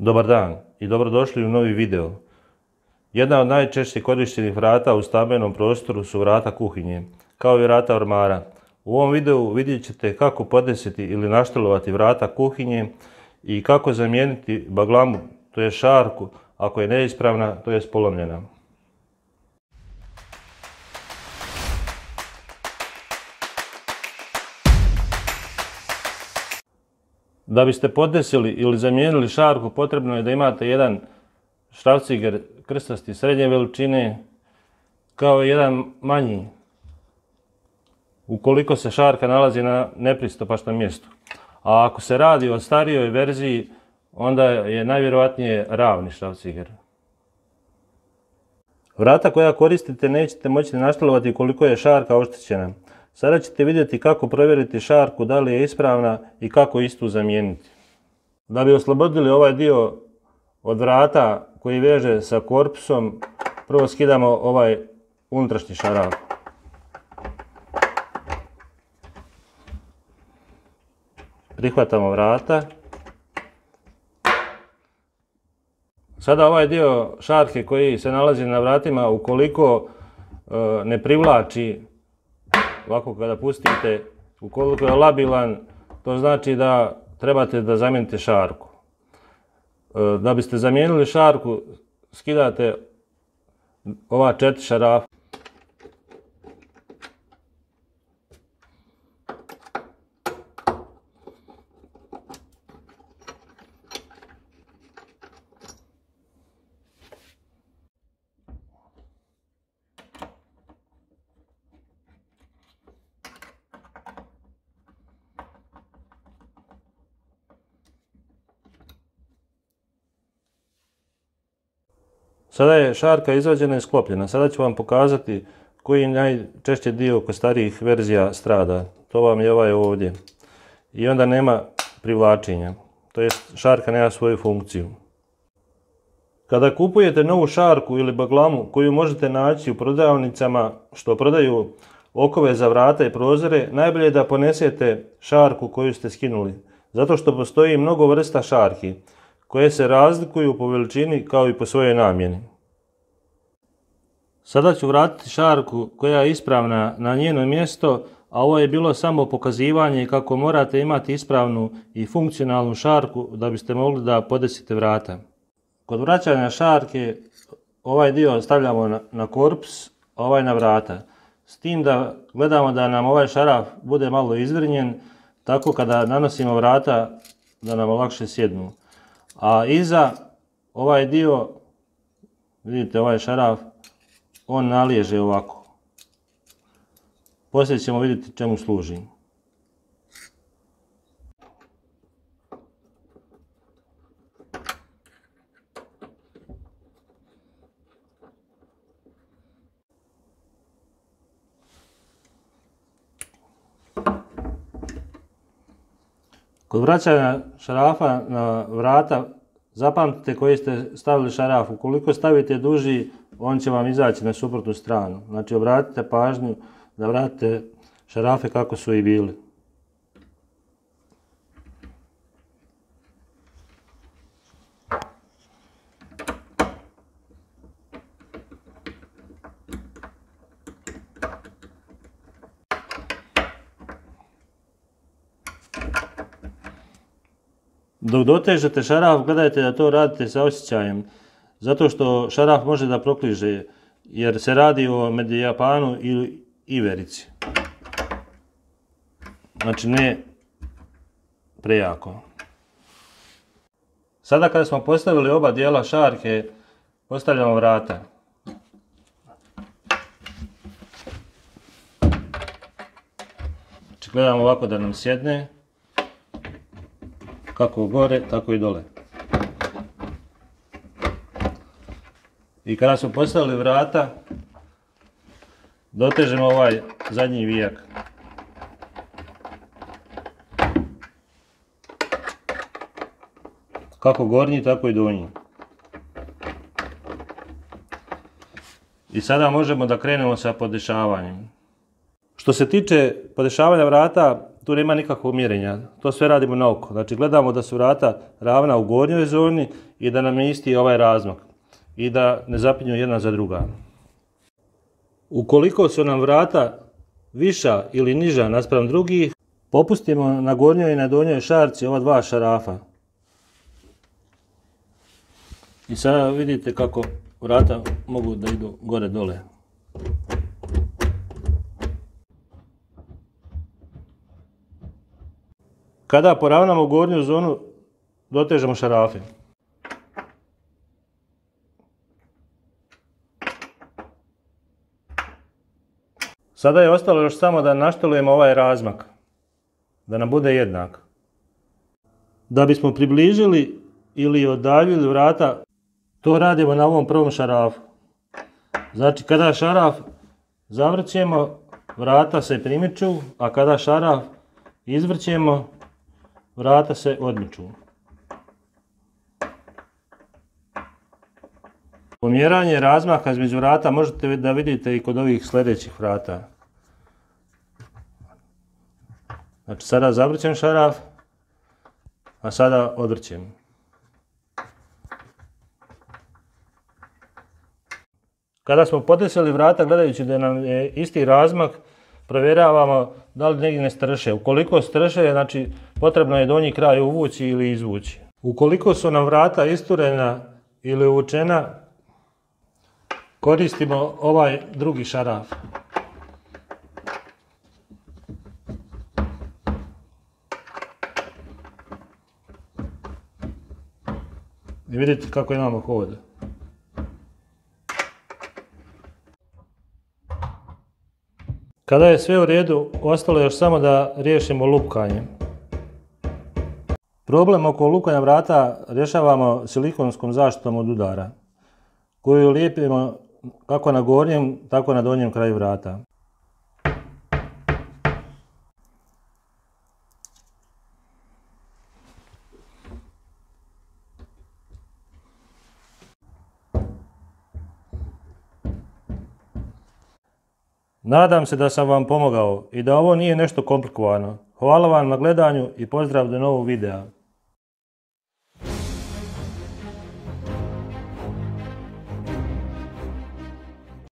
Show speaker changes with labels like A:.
A: Dobar dan i dobrodošli u novi video. Jedna od najčešće korištenih vrata u stambenom prostoru su vrata kuhinje, kao i vrata ormara. U ovom videu vidjet ćete kako podesiti ili naštelovati vrata kuhinje i kako zamijeniti baglamu, to je šarku, ako je neispravna, to je polomljena. Da biste podesili ili zamijenili šarku, potrebno je da imate jedan šrafciger krstasti srednje veličine, kao i jedan manji, ukoliko se šarka nalazi na nepristupačnom mjestu. A ako se radi o starijoj verziji, onda je najvjerojatnije ravni šrafciger. Vrata koja koristite nećete moći naštelovati ukoliko je šarka oštećena. Sada ćete vidjeti kako provjeriti šarku da li je ispravna i kako istu zamijeniti. Da bi oslobodili ovaj dio od vrata koji veže sa korpusom, prvo skidamo ovaj unutrašnji šaraf. Prihvatamo vrata. Sada ovaj dio šarke koji se nalazi na vratima, ukoliko ne privlači, ovako kada pustite, ukoliko je labilan, to znači da trebate da zamijenite šarku. Da biste zamijenili šarku, skidate ova 4 šarafa. Sada je šarka izvađena i sklopljena. Sada ću vam pokazati koji najčešće dio kod starijih verzija strada. To vam je ovaj ovdje. I onda nema privlačenja. To jest šarka nema svoju funkciju. Kada kupujete novu šarku ili baglamu koju možete naći u prodavnicama što prodaju okove za vrata i prozore, najbolje je da ponesete šarku koju ste skinuli. Zato što postoji mnogo vrsta šarki koje se razlikuju po veličini kao i po svojoj namjeni. Sada ću vratiti šarku koja je ispravna na njeno mjesto, a ovo je bilo samo pokazivanje kako morate imati ispravnu i funkcionalnu šarku da biste mogli da podesite vrata. Kod vraćanja šarke ovaj dio stavljamo na korpus, a ovaj na vrata. S tim da gledamo da nam ovaj šaraf bude malo izvrnjen, tako kada nanosimo vrata da nam lakše sjednu. A iza ovaj dio, vidite ovaj šaraf, on naliježe ovako. Poslije ćemo vidjeti čemu služi. Kod vraćanja šarafa na vrata, zapamtite koji ste stavili šaraf. Ukoliko stavite duži, on će vam izaći na suprotnu stranu. Znači obratite pažnju da vratite šarafe kako su i bili. Dok dotežete šaraf, gledajte da to radite sa osjećajem, zato što šaraf može da prokliže, jer se radi o medijapanu ili iverici. Znači ne prejako. Sada kada smo postavili oba dijela šarke, postavljamo vrata. Znači gledamo ovako da nam sjedne, kako gore, tako i dole. I kada smo postavili vrata, dotežemo ovaj zadnji vijak. Kako gornji, tako i donji. I sada možemo da krenemo sa podešavanjem. Što se tiče podešavanja vrata, tu nema nikakvog mjerenja. To sve radimo na oko. Znači gledamo da su vrata ravna u gornjoj zoni i da nam je isti ovaj razmak. I da ne zapinju jedna za druga. Ukoliko su nam vrata viša ili niža naspram drugih, popustimo na gornjoj i na donjoj šarci ova dva šarafa. I sada vidite kako vrata mogu da idu gore dole. Kada poravnamo gornju zonu, dotežemo šarafe. Sada je ostalo još samo da naštelujemo ovaj razmak, da nam bude jednak. Da bismo približili ili odaljili vrata, to radimo na ovom prvom šarafu. Znači kada šaraf zavrćemo, vrata se primiču, a kada šaraf izvrćemo, vrata se odmiču. Pomjeranje razmaka između vrata možete da vidite i kod ovih sljedećih vrata. Znači sada zavrćem šaraf, a sada odvrćem. Kada smo podesili vrata gledajući da nam je isti razmak, provjeravamo da li negdje ne strše. Ukoliko strše, znači potrebno je donji kraj uvući ili izvući. Ukoliko su nam vrata isturena ili uvučena, koristimo ovaj drugi šaraf. I vidite kako imamo hod. Kada je sve u redu, ostalo je još samo da riješimo lupkanje. Problem oko lupkanja vrata rješavamo silikonskom zaštitom od udara, koju lijepimo kako na gornjem, tako na donjem kraju vrata. Nadam se da sam vam pomogao i da ovo nije nešto komplikovano. Hvala vam na gledanju i pozdrav do novog videa.